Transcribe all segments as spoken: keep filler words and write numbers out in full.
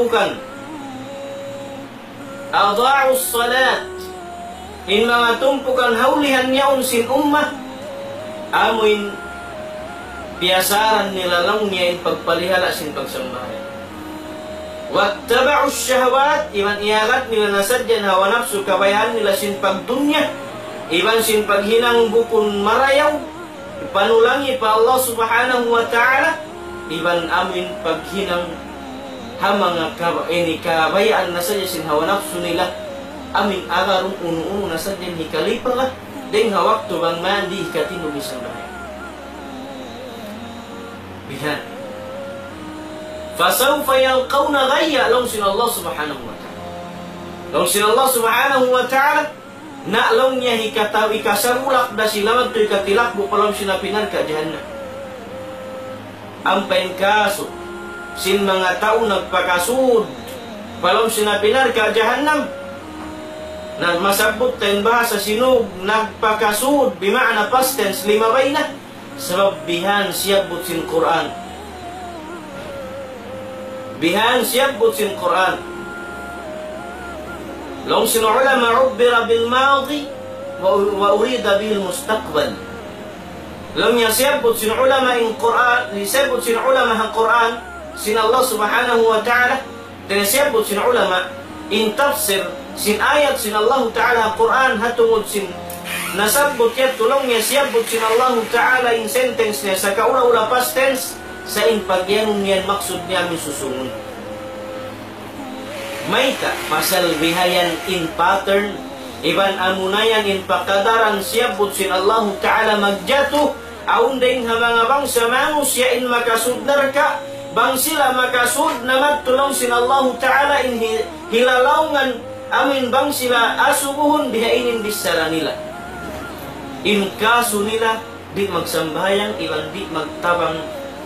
tumpukan. أضاعوا الصلاة. In manga tumpukan ha ulihan yaun sin ummah, amuin piyasaran nila laung niya in pagpalihala' sin pagsambahayang. واتبعوا الشهوات, iban iyagad nila na sadja in hawa napsu kabayaan nila sin pagdunya, iban sin paghinang bukun marayaw, panulangi pa Allah Subhanahu wa Ta'ala, iban amuin paghinang ha manga kaba-, ini kabayaan na sadja sin hawa napsu nila, amuin agarun unu-unu na sadja in hikalipaga, dayng ha waktu bang man di' hikatindug in sambahayang. Bihan. فسوف يلقون غيا, laung sin Allah Subhanahu wa Ta'ala. Laung sin Allah Subhanahu wa Ta'ala, na laung niya hikataw, hikasarulak da sila madtu hikatilakbu' pa lawm sin api narka' jahannam. Ampa in kasu sin manga tau nagpakasud pa lawm sin api narka' jahannam. Na masabbut ta in bahasa Sinug, nagpakasud, bima'na past tense, limabay na. Sabab bihan siyabbut sin Qur'an. Bihan siyabbut sin Qur'an. Laung sin ulama, عبر بالماضي و-، وأريد به المستقبل. Laung niya siyabbut sin ulama in Qur'an, siyabbut sin ulama ha Qur'an, sin Allah Subhanahu wa Ta'ala, dayn ha siyabbut sin ulama, in tafsir sin ayat sin Allahu Ta'ala ha Qur'an, ha tungud sin nasabbut yadtu laung niya siyabbut sin Allahu Ta'ala in sentence niya, sakaula-ula past tense, sa' in pagiyanun niya in maksud niya amun susūngun. Mayta', pasal bihayan in pattern, iban amuna yan in pakadaran siyabbut sin Allahu Ta'ala magjatu, awn dayng ha manga bangsa manusiya' in makasud narka', bang sila makasud na madtu laung sin Allahu Ta'ala in hi-, hilalaungan, amuin bang sila asubuhun, bihaini in bichara nila. In kasu nila, di' magsambahayang iban di' magtabang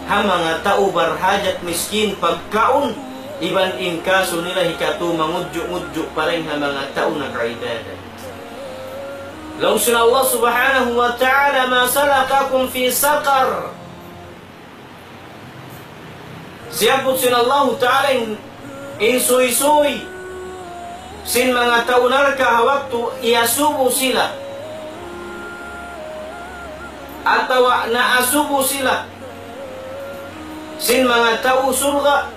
ha manga tau barhajat miskin pagkaun, iban in kasu nila hikatu mangudju'-ngudju' pa dayn ha manga tau nag-ibadat. Laung sin Allah Subhanahu wa Ta'ala, ما سلككم في سقر؟ Siyabbut sin Allahu Ta'ala in, in suysuy sin manga tau narka' ha waktu iyasubu sila atawa naasubu sila sin manga tau surga',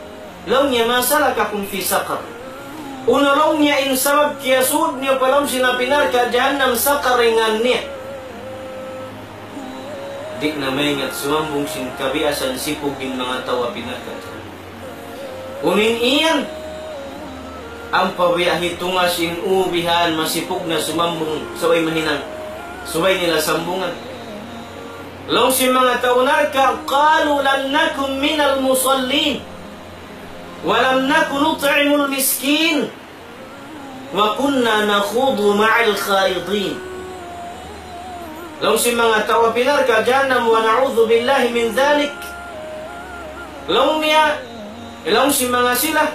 laung niya, ما سلككم في سقر؟ Unu laung niya in sabab kiyasud niyu pa lawm sin api narka' jahannam, Saqar in ngan niya. Di' na maingat sumambung sin kabiasan sipug in manga tau api narka' jahannam. Unu in iyan? Ampa biya' hitungas in ubihan masipug na sumambung, subay mahinang, subay nila sambungan. Laung sin manga tau narka', قالوا لم نك من المصلين ولم نك نطعم المسكين وكنا نخوض مع الخائضين. Laung sin manga tau api narka' jahannam, ونعوذ بالله من ذلك. Laung niya, laung sin manga sila,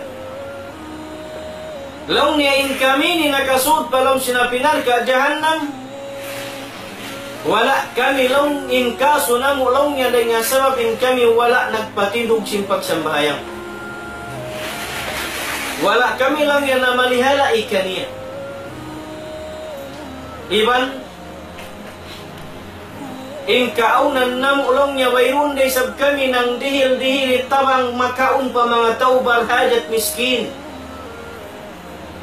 laung niya in kami ini nakasud pa lawm sin api narka' jahannam, wala' kami laung in kasu namu' laung niya dayn ha sabab in kami wala' nagpatindug sin pagsambahayang. Wala' kami laung niya namalihala' kaniya. Iban in kaawnan namu' laung niya wayruun da isab kami nangdihil-dihil tabang makaun pa manga tau barhajat miskin.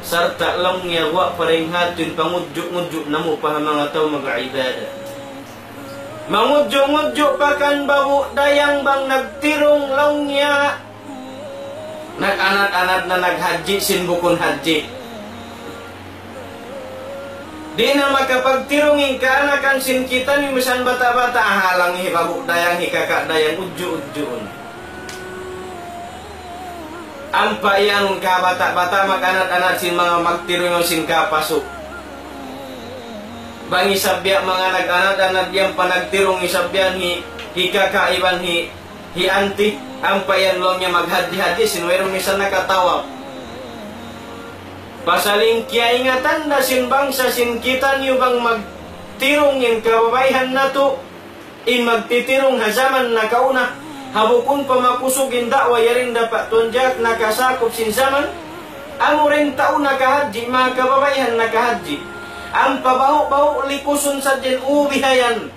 Sarta' laung niya guwa' pa dayn ha yadtu in pangudju'-ngudju' namu' pa ha manga tau mag-ibadat. Mangudju'-ngudju' pa kan Babu' Dayang bang nagtirung laung niya. Nag-anad-anad na naghajji sin bukun hajji. Di' na makapagtirung in kaanakan sin kitaniyu misan bata'-bata', halang hi Babu' Dayang, hi Kaka' Dayang, udju'-udjuun. Ampa yan kabata'-bata' mag-anad-anad sin manga magtirung sin kapasu'. Bang isab biya' manga nag-anad-anad yan pa nagtirung isab yan hi, hi kaka iban hi, hi anti, ampa yan laung niya maghadji-hadji sin wayruun misan nakatawaf. Pasal in kiyaingatan da sin bangsa sin kitaniyu bang magtirung in kababaihan natu', in magtitirung ha jaman nakauna, Ha bukun pa makusug in da'wa yari in dapat tunjak nakasakup sin jaman, amu ra in tau nakahadji, manga kababaihan nakahadji. Ampa bahu'-bahu' likusun sadja in ubi hayan.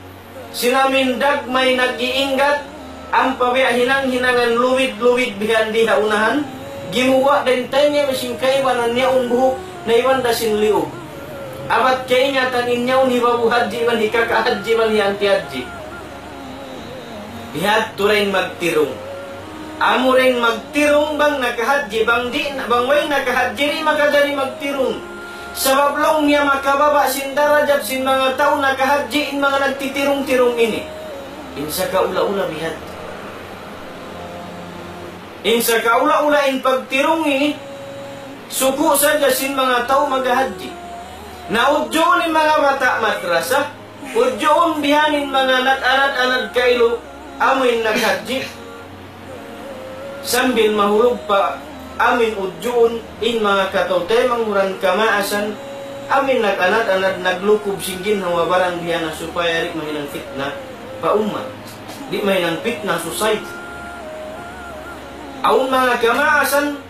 Sin amin dagmay nag-iinggat, ampa biya' hinang-hinangan luwid-luwid bihan di ha unahan, gimuwa' da in taymiya sin kaibanan yaun buhuk, naiban da sin liug. Abat kaingatan in yaun hibabu hadji iban hikaka hadji iban hianti hadji. Bihadtu ra in magtirung. Amu ra in magtirung bang nakahadji, bang di', bang way nakahadji di' makajari magtirung. Sabab laung niya makababa' sin darajat sin manga tau nakahadji in manga nagtitirung-tirung ini. In sakaula-ula bihadtu. In sakaula-ula in pagtirung ini, suku' sadja sin manga tau maghahadji. Na udjuun in manga bata' madrasa, udjuun bihan in manga nag-anad-anad kailu, amu in naghadji. Sambil mahulug pa amin udjuun in manga kataw-taymanghuran kamaasan, amin nag-anad-anad naglukub sin ginhawa-baran biya' na supaya di' mahinang fitna pa ummat, di' mahinang fitna society. Awn manga kamaasan,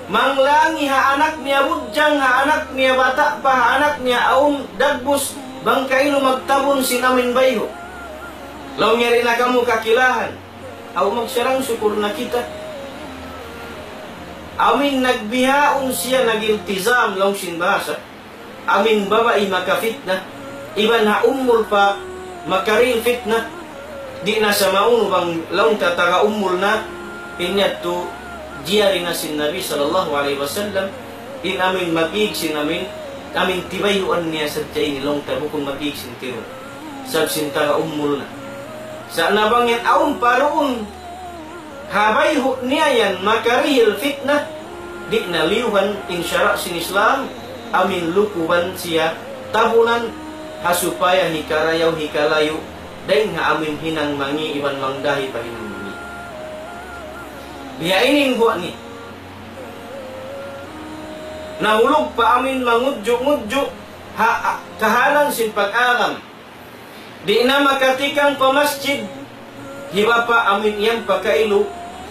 manglangi ha anak niya budjang, ha anak niya bata' pa, ha anak niya awn dagbus, bang kailu magtabun sin amin bayhu'. Laung niya di' na kamu kakilahan. Aw magsarang-sukul na kita. Amin nagbihaun siya nag-iltizam laung sin bahasa. Amin babai makafitna. Iban ha umul pa makarihil fitna. Di' na sa maunu bang laung ta taga umul na. In yadtu jiyari na sin Nabi sallallahu alayhi wasallam. In amin mag-ig sin amin. Amin tibayuan niya sadja ini laung ta bukun mag-ig sin tiru. Sabab sin taga umul na. Sa' na bang yan awn pa duun ha bayhu' niya yan makarihil fitna, di' na liyuhan in sara' sin Islam, amin lukuban siya tabunan, ha supaya hikarayaw hikalayu', dayn ha amin hinang mangi' iban mangdahi pa hinang mangi'. Biya' ini in guwa' ni. Nahulug pa amin mangudju'-ngudju' ha, ha kahalan sin pag-agam. Di' na makatikang pa masjid, hi bapa' amin yan pa kailu,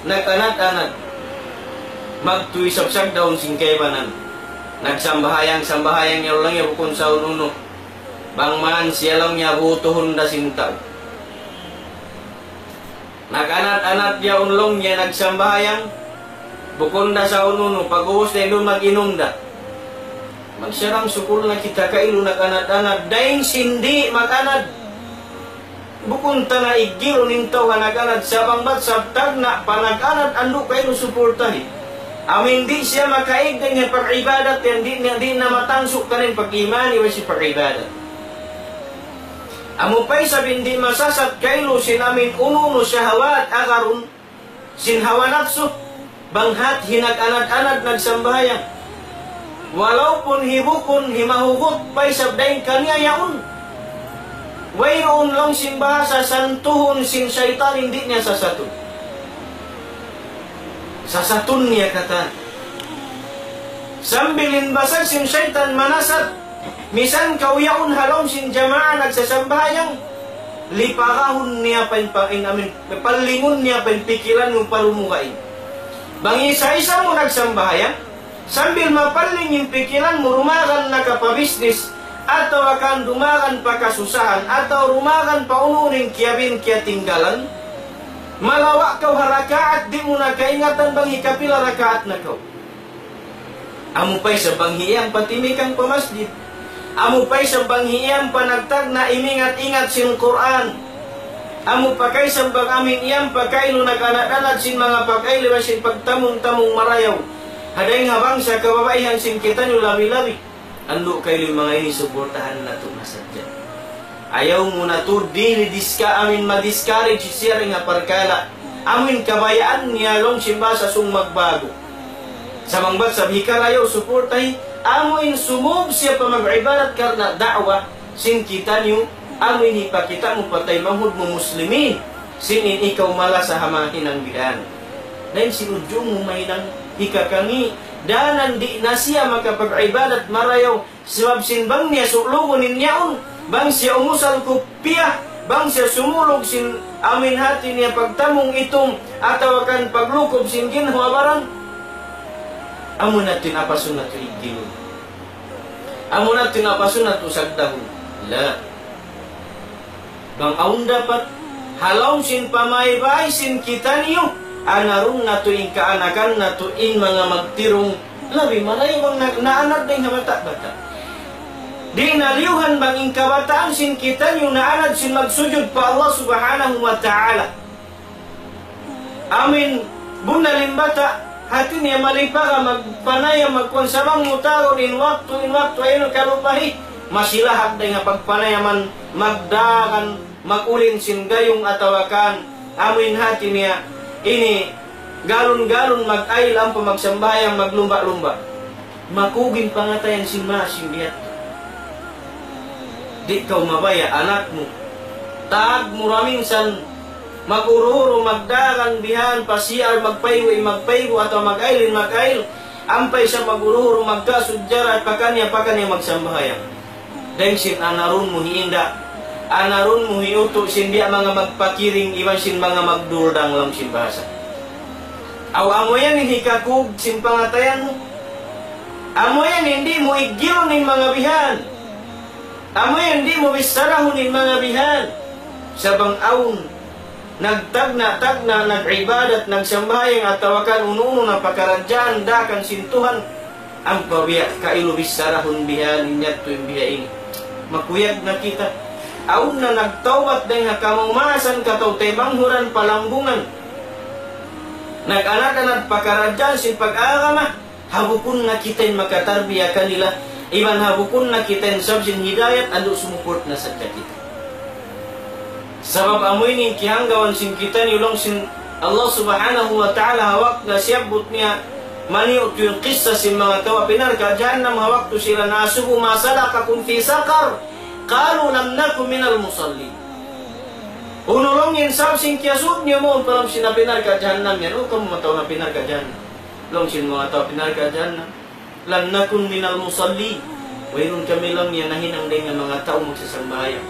nag-anad-anad. Magtuy isab sagdaun sin kaibanan. Nagsambahayang-sambahayang yaun lang ya bukun sa unu-unu. Bang man siya lang niya butuhun da sin tau. Nag-anad-anad yaun laung niya nagsambahayang, bukun da sa unu-unu, pag-ubus na inun mag-inum da. Magsarang-sukul na kita kailu nag-anad-anad, dayn sin di' mag-anad. Bukun ta na iggilun in tau ha nag-anad, sa' bang bat sabab tagna' pa nag-anad, andu' kailu supurtahi. Amin di' siya makaig dayn ha pag-ibadat, yan di' na, di' na matansu' kaniya in pag-iman, iban sin pag-ibadat. Amu pa isab in di' masasat kailu sin amin unu-unu shahawat agarun sin hawa napsu, bang hat hinag-anad-anad nagsambahayang. Walaupun hi bukun, hi mahugut pa isab dayn kaniya yaun. Wayruun laung sin bahasa santuhun sin saytan in di' niya sasatun. Sasatun niya katan. Sambil in basag sin saytan manasat, misan kaw yaun ha lawm sin jamaa nagsasambahayang, lipagahun niya pa in pa-, in amin, pallingun niya pa in pikilan mu pa lumugain. Bang isa-isa mu nagsambahayang, sambil mapalling in pikilan mu, dumagan na ka pa business, atawa kan dumagan pa kasusahan, atawa dumagan pa unu-unu in kiyabin kiyatinggalan, malawa' kaw ha rakaat, di' mu na kaingatan bang hikapila rakaat na kaw. Amu pa isab bang hi iyan pa timikang pa masjid. Amu pa isab bang hi iyan pa nagtagna' imingat-ingat sin Qur'an. Amu pa kaisab bang amin iyan pa kailu nag-anad-anad sin manga pag-ayli iban sin pagtamung-tamung marayaw. Ha dayng ha bangsa kababaihan sin kitaniyu labi-labi. Andu' kailu in manga ini suportahan natu' na sadja. Ayaw mu na tuud dili diska-, amin ma-discourage siya dayn ha parkala'. Amin kabayaan niya laung sin bahasa sung magbago. Sa' bang bat sab hikarayaw suportahi, amu in sumūb siya pa mag-ibadat karna' da'wa sin kitaniyu, amu in hipakita' mu pa taymanghud mu muslimin, sin in ikaw malasa ha manga hinang bihan. Dayn sin udju mu mahinang hikakangi', danan di' na siya makapag-ibadat marayaw, sabab sin bang niya sulugun in yaun, bang siya umusal kupiya, bang siya sumulug sin amuin hati niya pagtamung itum, atawa kan paglukub sin ginhawa-baran, amu na in apasun natu' iggilun. Amu na in apasun natu' sagdahun. La. Bang awn dapat, ha lawm sin pamaybay sin kitaniyu, anarun natu' in kaanakan natu' in manga magtirung, labi marayaw bang na-, naanad dayn ha bata'-bata'. Di' na liyuhan bang in kabataan sin kitaniyu naanad sin magsujud pa Allah Subhanahu wa Ta'ala. Amuin bunnal in bata', hati niya malipara magpanayam magkuan sa bang mutaud in waktu, in waktu ayaw kalupahi. Masi lahag dayn ha pagpanayaman, magdagan, mag-ulin sin gayung atawa kan, amuin hati niya, ini galun-galun mag-ayil ampa magsambahayang, maglumba'-lumba'. Makug in pangatayan sin maas sin biya' yadtu. Di' kaw mabaya' anak mu. Taag mu ra minsan, mag-uru-uru, magdagan bihan, pa C R, magpaygu', magpaygu', atawa mag-ayil, mag-ayil. Ampa isab mag-uru-uru, magkasujjara, pakaniya, pakaniya magsambahayang. Dayn sin anarun mu hiinda', anarun mu hiutu' sin biya' manga magpakiring, iban sin manga magduldang laung sin bahasa. Aw amu yan in hikakug sin pangatayan mu. Amu yan in di' mu iggilun in manga bihan. Amu yan in di' mu bissarahun in manga bihan. Sa' bang awn nagtagna'-tagna', nag-ibadat, nagsambahayang, atawa kan unu-unu na pakaradjaan, daakan sin Tuhan. Ampa biya' kailu bissarahun bihan, in yadtu in biha ini. Makuyag na kita. Awn na nagtawbat dayn ha kamaumasan, kataw-taymanghuran, palambungan. Nag-anad-anad pakaradjaan sin pag-agama. Ha bukun na kita in makatarbiya kanila. Iban ha bukun na kita in sabab sin hidayat, andu' sumupurt na sadja kita. Sabab amu ini in kiyahanggawan sin kitaniyu laung sin Allah Subhanahu wa Ta'ala ha waktu na siyabbut niya maniyu' tuud in kissa sin manga tau api narka' jahannam ha waktu sila naasubu, ما سلككم في سقر؟ قالوا لم نك من المصلين. Unu laung in sabab sin kiyasud niyu mawn pa lawm sin api narka' jahannam yan? O kamu manga tau api narka' jahannam. Laung sin manga tau api narka' jahannam. لم نك من المصلين. Wayruun kami laung niya nahinang dayn ha manga tau magsasambahayang.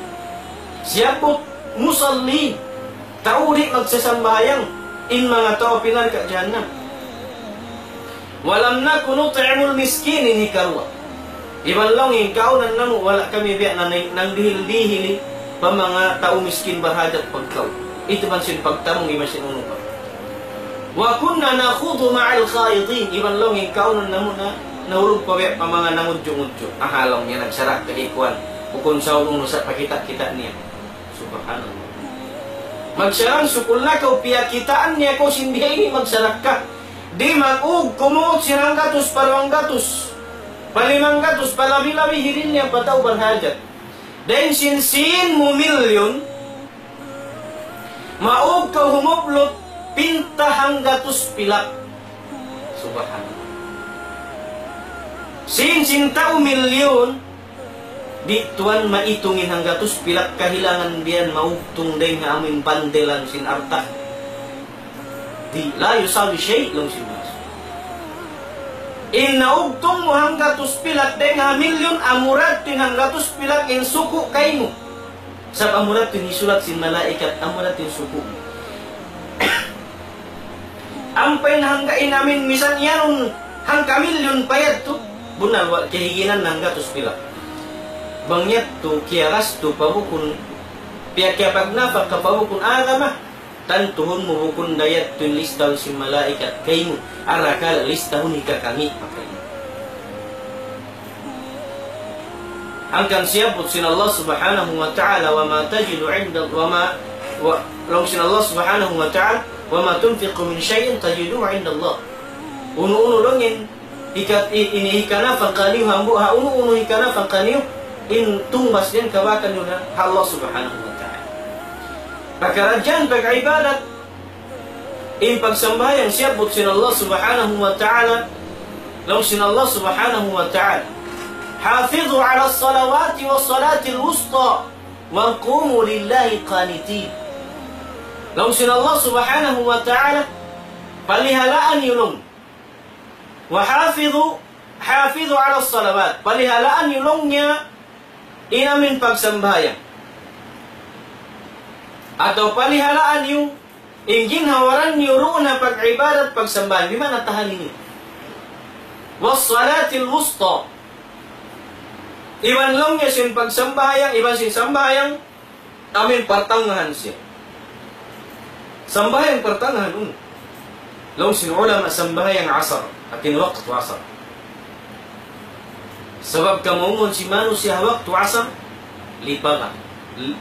Siyabbut musalli. Tau di' magsasambahayang. In manga tau api narka' jahannam. ولم نك نطعم المسكين, in hikaruwa. Iban laung in kaunan namu' wala' kami biya' na nang-, nangdihil-dihili pa manga tau miskin barhajat pagkaun. Itu man sin pagtamung iban sin unu pa. وكنا نخوض مع الخائضين. Iban laung in kaunan namu' na, nahulug pa biya' pa manga nangudju'-ngudju'. Aha laung niya nagsarakka di' kuwan. Bukun sa unu-unu sa' pakita'-kita' niya. Subhanallah. Magsarang-sukul na kaw, piyakitaan niya kaw sin biya' ini magsarakka. Di' mag-ug kumuut sin hanggatus pa duwanggatus, pa limanggatus, pa labi-labi, hiril niya pa tau barhajat. Dayn sin sīn mu milyun, maug kaw humuplut pinta hanggatus pilak. Subhanallah. Sīn sin tau milyun, di' tuwan maitung in hanggatus pilak kahilangan biyan maugtung dayn ha amu in bandelan sin alta'. Di', لا يساوي شيء, laung sin Rasul. In naugtung mu hanggatus pilak dayn ha milyun, amura tuud in hanggatus pilak in suku' kaymu. Sabab amura tuud in hisulat sin malaikat, amura tuud in suku'. Ampa in hangga in amin misan iyanun hangka milyun pa yadtu, bunnal wala' kiyahiginan hanggatus pilak. Bang yadtu kiyagastu pa bukun, piyakiyapagnapaka pa bukun agama, tantuhun mu bukun da yadtu in listahun sin malaikat kaymu, arakala' listahun hikakami' pa kaymu. Hangkan siyabbut sin Allah Subhanahu wa Ta'ala, وما تجد عند، وما، wa-, laung sin Allah Subhanahu wa Ta'ala, وما تنفقوا من شيء تجدوه عند الله. Unu-unu laung in hika-, i-, ini hikanapaka niyu, hambuuk ha unu-unu hikanapaka niyu, in tungbas niya kabakan niyu ha Allah Subhanahu wa Ta'ala. Pakaradjaan pag-ibadat, in pagsambahayang siyabbut sin Allah Subhanahu wa Ta'ala, laung sin Allah Subhanahu wa Ta'ala, حافظوا على الصلوات والصلاة الوسطى وقوموا لله قانتين. Laung sin Allah Subhanahu wa Ta'ala, palihalaan niyu laung. وحافظوا، حافظوا على الصلوات. Palihalaan niyu laung niya in amin pagsambahayang. Atawa palihalaan niyu, in ginhawa-baran niyu duun ha pag-ibadat, pagsambahayang, di' man natahan ini. والصلاة الوسطى. Iban laung niya sin pagsambahayang, iban sin sambahayang, amin partangahan siya. Sambahayang partangahan, um. Laung sin ulama sambahayang asar, atin waktu asar. Sabab kamu mun sin manusiya' waktu asar, lipaga. L-